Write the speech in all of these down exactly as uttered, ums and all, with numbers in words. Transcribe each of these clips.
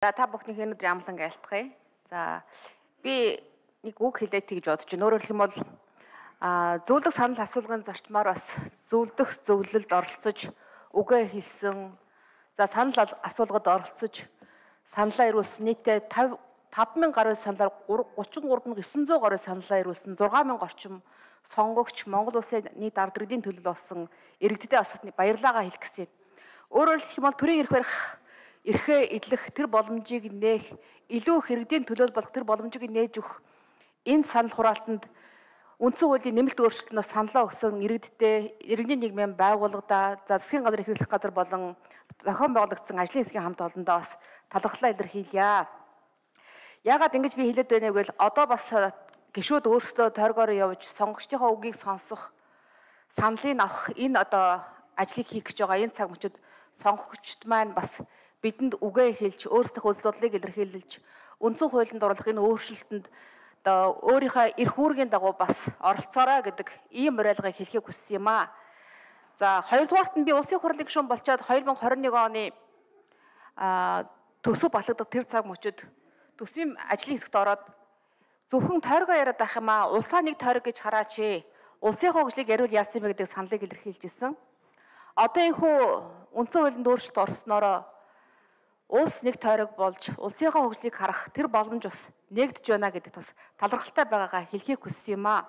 За та бүхний өнөөдөр амлан айлтгая. За би нэг үг хэлээд тэгж бодож байна. Өөрөөр хэлбэл а зөвлөх санал асуулгын зарчмаар бас зөвлөх зөвлөлд оролцож үгээ хэлсэн. За санал асуулгад оролцож саналаа ирүүлсэн нийтдээ тавь мянга гаруй саналаар гучин гурав мянган девять жүз гаруй саналаа ирүүлсэн. зургаан мянга орчим сонгогч Монгол улсын нийт ард иргэдийн төлөө болсон иргэдэд бас баярлалаа хэлэх гэсэн юм. Өөрөөр хэлбэл төрийн эрх барих эрхээ эдлэх тэр боломжийг нээх, илүү иргэдийн төлөө болох тэр боломжийг нээж өгөх энэ санал хураалтанд үндсэн хуулийн нэмэлт өөрчлөлтөнд саналаа өгсөн иргэдтэй иргэний нийгмийн байгууллагада засгийн газар эрхлэх газар болон зохион байгуулагдсан ажлын хэсгийн хамт олондоо бас талархлаа илэрхийлье. Яагаад ингэж би хэлээд байна вэ гэвэл одоо бас гишүүд өөрсдөө тойргоор явж сонгогчдийнхоо үгийг сонсох, саналыг авах энэ одоо ажлыг хийх гэж байгаа энэ цаг мөчид сонгогчд маань бас бидэнд үгээ хэлж өөрсдөх үзэл бодлыг илэрхийлж үндсэн хуулинд оруулах энэ өөрчлөлтөнд одоо өөрийнхөө эрх үүргийн дагуу бас оролцоорой гэдэг ийм уриалгыг хэлхийг хүссэн юм аа. За хоёрдугаарт нь би улсын хурлын гишүүн болчоод две тысячи двадцать one оны а төсөв батлагдах тэр цаг мөчид төсвийн ажлын хэсэгт ороод зөвхөн тойргоо яриад байх юм аа. Улсаа нэг тойрог гэж хараач ээ. Улсын хөгжлийг яриул яасан бэ гэдэг саналыг илэрхийлжсэн. Одоо энэ хүү үндсэн хуулинд өөрчлөлт орсноороо улс нэг тойрог болж улсынхаа хөгжлийг харах тэр боломж бас нэгдэж байна гэдэг бас талархалтай байгаагаа хэлхийг хүссэн юм аа.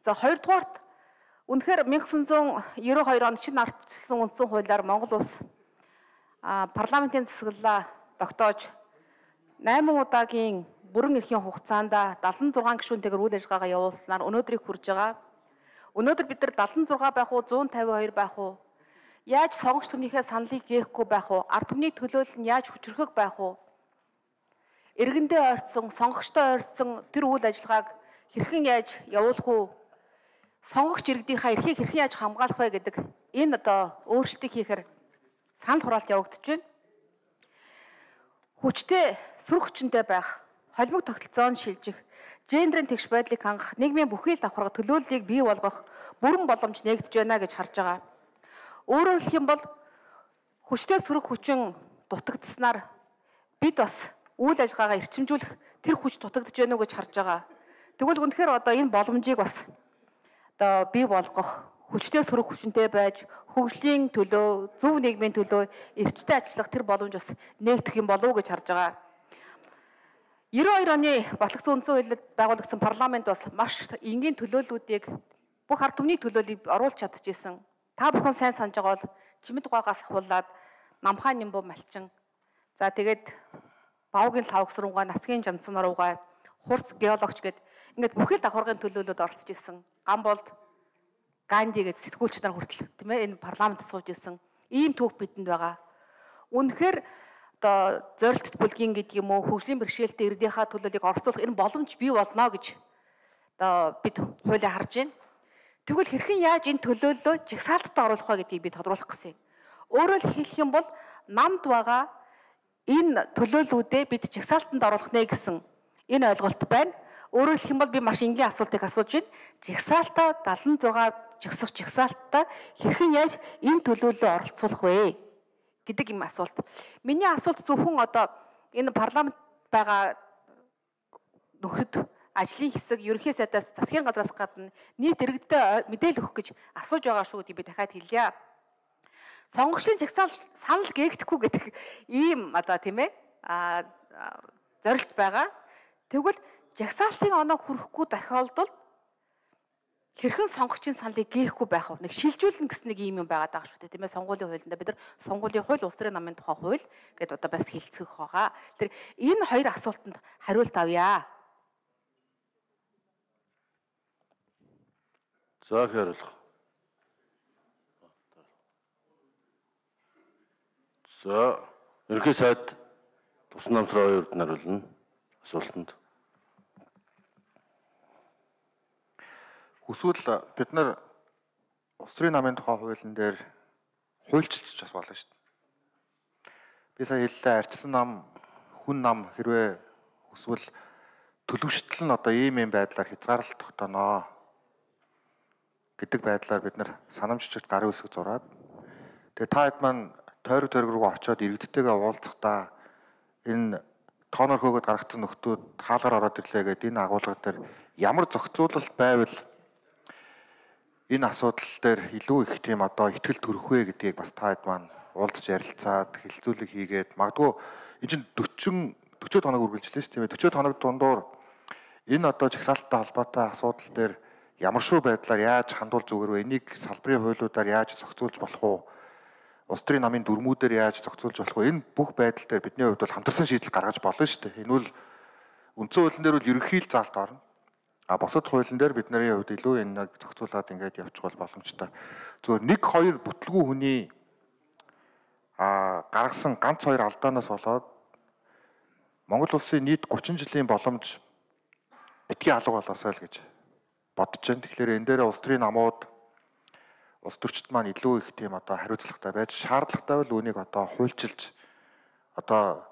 За хоёрдугаарт үнэхээр nineteen ninety-two онд чинь ардчилсан үндсэн хуулиар Монгол улс парламентын засаглалаа тогтоож найман удаагийн бүрэн эрхийн хугацаанд seventy-six гишүүнтэйгээр үйл ажиллагаагаа явуулснаар өнөөдрийг хүрж байгаа. Өнөөдөр бид нар seventy-six байх уу, one fifty-two байх уу? Яаж сонгогч түмнийхээ саналыг гээхгүй байх уу? Ард түмний төлөөлөл нь яаж хүчрхэг байх уу? Иргэндээ ойртсон, сонгогчтой ойртсон тэр үйл ажиллагааг хэрхэн яаж явуулах уу? Сонгогч иргэдийнхаа эрхийг хэрхэн яаж хамгаалах вэ гэдэг энэ одоо өөрчлөлтийг хийхээр санал хураалт явагдаж байна. Хүчтэй, сүр хүчинтэй байх, холимог тогтолцоонд шилжих, гендерийн тэгш байдлыг хангах, нийгмийн бүхий л давхарга төлөөллийг бий болгох бүрэн боломж нэгдэж байна гэж харж байгаа. Өөрөөр хэлэх юм бол хүчтэй сөрөг хүчин дутагдсанаар бид бас үйл ажиллагаагаа эрчимжүүлэх тэр хүч дутагдж байна уу гэж харж байгаа. Тэгвэл үнэхээр одоо энэ боломжийг бас одоо бий болгох, хүчтэй сөрөг хүчинтэй байж хөгжлийн төлөө, зөв нийгмийн төлөө эрчтэй ажиллах тэр боломж бас нэгдэх юм болов уу гэж харж байгаа. ninety-two оны батлагдсан үндсэн хуулинд байгуулагдсан парламент бас маш энгийн төлөөллүүдийг бүх ард түмний төлөөллийг оруулж чадчихсан. Та бүхэн сайн санаж байгаа бол чимэд гуйгаас ахуулаад намхаа нимбүү малчин. За тэгээд бавгийн лавг суруугаа, насгийн жанцсан руугаа, хурц геологч гэд ингээд бүхэл давхаргын төлөөлөлд оролцож ирсэн. Гамболд Ганди гэд сэтгүүлч нар хүртэл тийм ээ энэ парламентд сууж ирсэн. Ийм түүх бидэнд байгаа. Үнэхээр одоо зорилтт бүлгийн гэдэг юм уу, хөгжлийн бэрхшээлтэй иргэдийнхаа төлөөллийг оролцуулах энэ боломж бий болно гэж одоо бид хуулиа харж байна. Тэгвэл хэрхэн яаж энэ төлөөллөө жагсаалтад оруулах вэ гэдгийг би тодруулах гэсэн юм. Өөрөөр хэлэх юм бол намд байгаа энэ төлөөллүүдээ бид жагсаалтанд оруулах нэ гэсэн энэ ойлголт байна. Өөрөөр хэлэх юм бол би маш энгийн асуултыг асууж байна. Жагсаалтаа seventy-six жагсах жагсаалтаа хэрхэн яаж энэ төлөөллөө оролцуулах вэ гэдэг юм асуулт. Миний асуулт зөвхөн одоо энэ парламент байгаа нөхөд ажлын хэсэг ерөнхий сайдаас засгийн газраас гадна нийт иргэдэд мэдээлэл өгөх гэж асууж байгаа шүү гэдгийг би дахиад хэлье. Сонгогчдын жагсаал санал гээгдэхгүй гэдэг ийм одоо тийм ээ а зорилт байгаа. Тэгвэл жагсаалтын оноо хүрэхгүй тохиолдолд хэрхэн сонгогчийн саналыг гээхгүй байх вэ? Нэг шилжүүлнэ гэсэн нэг ийм юм байгаад байгаа шүү дээ тийм ээ. Сонгуулийн хуулинд бид нар сонгуулийн хууль, улс төрийн намын тухай хууль гэдээ одоо бас хэлцэх байгаа. Тэр энэ хоёр асуултанд хариулт авъя. За хариулах. За ерөнхий сайд Тусан намсрын хоёрд нариулна асуултанд. Хүсвэл бид нар улс төрийн намын тухай хуулийн дээр хуульчилж бас болно шүү дээ. Би сая хэллээ арчсан нам, хүн нам хэрвээ хүсвэл төлөвштөл нь одоо ийм юм байдлаар хязгаарлалт тогтооноо гэдэг байдлаар бид нар санамжчигт гарын үсэг зураад тэгээ та хэд маань тойрог тойрог руу очиод иргэдтэйгээ уулзахдаа энэ тооноор хөөгд гаргацсан нөхдүүд хаалгаар ороод ирлээ гэдэг энэ агуулга дээр ямар зохицуулалт байвал энэ асуудал дээр илүү их тийм одоо ихтгэл төрөх вэ гэдгийг бас та хэд маань уулзж ярилцаад хэлэлцүүлэг хийгээд магадгүй энэ чинь forty forty хоног үргэлжлээ шүү дээ. forty хоног дундуур энэ одоо жагсаалттай холбоотой асуудал дээр ямар шүү байдлаар яаж хандуул зүгээр вэ? Энийг салбарын хуулиудаар яаж зохицуулж болох уу? Улс төрийн намын дүрмүүдээр яаж зохицуулж болох вэ? Энэ бүх байдал дээр бидний хувьд бол хамтарсан шийдэл гаргаж болно шүү дээ. Энэ бол үндсэн хуулийн дээр бол ерөнхий л заалт орно. А бусад хуулийн дээр бидний хувьд илүү энэ зохицуулаад ингээд явчих бол боломжтой. Зөвхөн нэг хоёр бүтлгүй хүний а гаргасан ганц хоёр алдаанаас болоод Монгол улсын нийт thirty жилийн боломж битгий алга болоосой л гэж бодож байна. Тэгэхээр энэ дээр улс төрийн намууд улс төрчид маань илүү их тийм одоо хариуцлагатай байж шаардлагатай бол үүнийг одоо хуульчилж одоо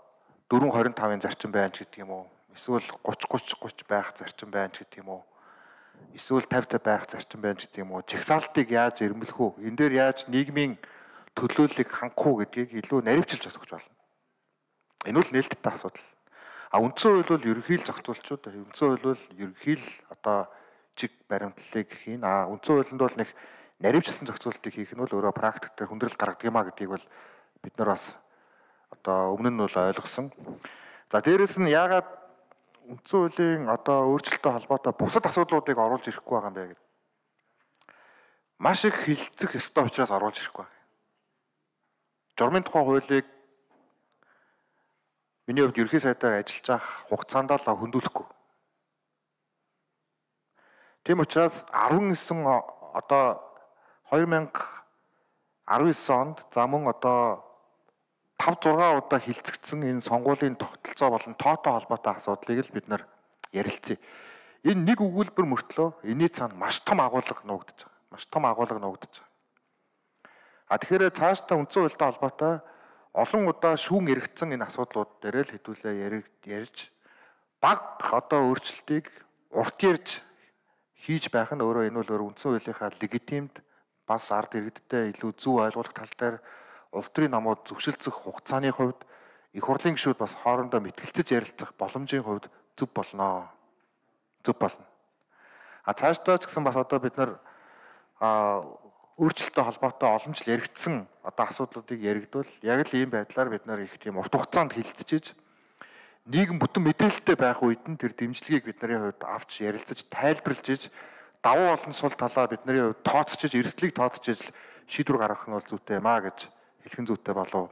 four twenty-five-ын зарчим байна ч гэдэг юм уу? Эсвэл thirty thirty thirty байх зарчим байна ч гэдэг юм уу? Эсвэл fifty fifty байх зарчим байна ч гэдэг юм уу? Жагсаалтыг яаж эрмэлэх үү? Энэ дээр яаж нийгмийн төлөөллийг хангах уу гэдгийг илүү наривчилж асууж байна. Энэ бол нээлттэй асуудал. А үндсэн хууль бол ерөнхий л зохицуулчуд. Үндсэн хууль бол ерөнхий л одоо чиг баримтлалыг хийн. А үндсэн хуулинд бол нэг наривчилсан зохицуултыг хийх нь бол өөрөө практик дээр хүндрэл гаргадаг юм а гэдгийг бол бид нар бас одоо өмнө нь бол ойлгосон. За дээрэс нь яагаад үндсэн хуулийн одоо өөрчлөлттэй холбоотой бусад асуудлуудыг оруулж ирэхгүй байгаа юм бэ гэдэг. Маш их хилцэх ёстой учраас оруулж ирэхгүй байна. Журмын тухай хуулийг миний хувьд ерхий сайдаар ажиллаж байх хугацаанд л хөндөөлөхгүй. Тийм учраас nineteen одоо twenty nineteen онд за мөн одоо five six удаа хилцэгдсэн энэ сонгуулийн тогтолцоо болон тоотой холбоотой асуудлыг л бид нар ярилцъя. Энэ нэг өгүүлбэр мөртлөө энэний цаана маш том агуулга нуугдаж байгаа. Маш том агуулга нуугдаж байгаа. А тэгэхээр цаашдаа үндсэн хуультай холбоотой олон удаа шүүн эргэцсэн энэ асуудлууд дээр л хэдүүлээ ярьж баг одоо өөрчлөлтийг урт ярьж хийж байх нь өөрөө энэ бол өөр үндсэн хуулийнхаа легитимд бас ард иргэдтэй илүү зөв ойлгох тал дээр улс төрийн намууд зөвшөлдсөх хугацааны хувьд их хурлын гишүүд бас хоорондоо мэтгэлцэж ярилцах боломжийн хувьд зөв болно. Зөв болно. А цаашдаа ч гэсэн бас одоо бид нар а өөрчлөлттэй холбоотой олон жил яригдсан одоо асуудлуудыг яригдвал яг л ийм байдлаар бид нар их тийм урт хугацаанд хилцэж нийгэм бүтэн мэдээлэлтэй байх үед нь тэр дэмжлэгийг бидний хувьд авч ярилцаж тайлбарлаж иж давуу болон сул талаа бидний хувьд тооцчиж эрсдлийг тооцчиж шийдвэр гаргах нь бол зүйтэй юм а гэж хэлхэн зүйтэй болов.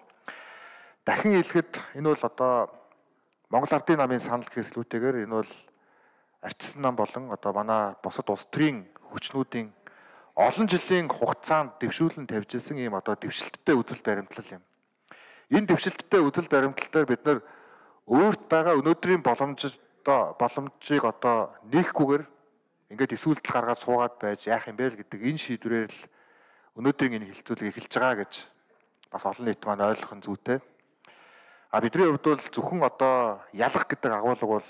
Дахин хэлэхэд энэ бол одоо Монгол Ардын намын санал гэслүүтэйгээр энэ бол арчсан нам болон одоо манай бусад улс төрийн хүчнүүдийн олон жилийн хугацаанд дэвшүүлэн тавьж ирсэн ийм одоо дэвшилттэй үзэл баримтлал юм. Энэ дэвшилттэй үзэл баримтлал дээр бид нар өөрт байгаа өнөөдрийн боломжтой боломжийг одоо нээхгүйгээр ингээд эсвэлтэл гаргаад суугаад байж яах юм бэ л гэдэг энэ шийдвэрээр л өнөөдрийн энэ хилцүүлгийг эхэлж байгаа гэж бас олон нийт маань ойлгох нь зүйтэй. А бидний хувьд бол зөвхөн одоо ялах гэдэг агуулга бол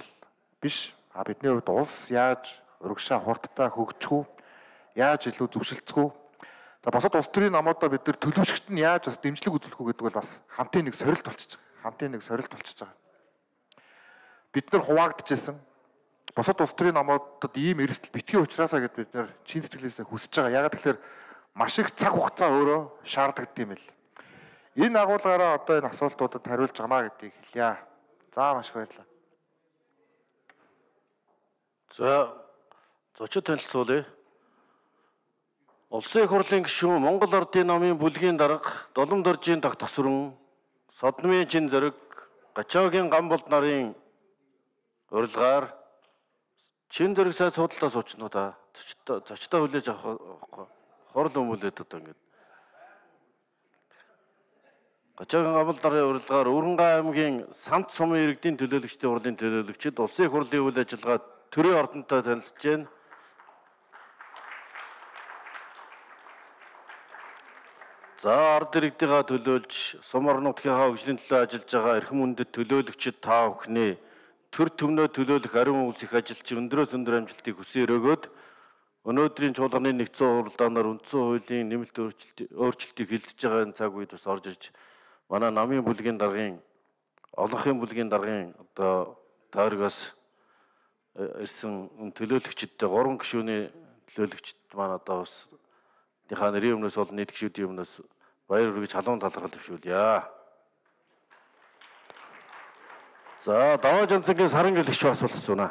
биш. А бидний хувьд улс яаж урагшаа хурдтай хөгжих үү? Яаж илүү зөвшөлдсөх үү? За босод улс төрийн намуудаа бид нар төлөвшөгт нь яаж бас дэмжлэг үзүүлэх үү гэдэг бол бас хамтын нэг сорилт болчихж байгаа. Хамтын нэг сорилт болчихж байгаа. Бид нар хуваагдчихсан. Босод улс төрийн намуудад ийм эрсдэл битгий учраас гэд бид нар чин сэтгэлээсээ хүсэж байгаа. Ягаад гэхээр маш их цаг хугацаа өөрөө шаардлагатай юм л. Энэ агуулгаараа одоо энэ асуултуудад хариулж гамаа гэдгийг хэлье. За маш их баярлалаа. За зочид танилцуулъя. Улсын их хурлын гишүүн Монгол Ардын намын бүлгийн дарга Долом доржийн дах тасварн Содномын чин зэрэг Гачаагийн Гамболд нарын урилгаар чин зэрэг сайд судалдаа суучнуудаа зочдоо хүлээж авах хорл өмүүлээд одоо ингэ. Гачаагийн Гамболд нарын урилгаар Өрөнгай аймгийн Самт сумын иргэдийн төлөөлөгчдийн хурлын төлөөлөгчид улсын их хурлын үйл ажиллагаа төрийн ордонтой танилцж байна. За ард иргэдийнхаа төлөөлж сум орон нутгийнхаа хөгжлийн төлөө ажиллаж байгаа эрхэм үндэд төлөөлөгчид та бүхний төр төмнөө төлөөлөх ариун үйлсэх ажилч өндрөөс өндөр амжилтыг хүсье өрөөгөөд өнөөдрийн чуулганы нэгдсэн хуралдаанаар үндсэн хуулийн нэмэлт өөрчлөлтийг хилцэж байгаа цаг үед бас орж ирж манай намын бүлгийн даргын олонхын бүлгийн даргын одоо тойрогоос ирсэн төлөөлөгчдтэй гурван гишүүний төлөөлөгчд маань одоо бас тийнхаа нэрийн өмнөөс бол нийт гишүүдийн өмнөөс баяр хүргэж халуун талархал төвшүүлье. За даваа жанцгийн саран гэлэгч асуулт асууна.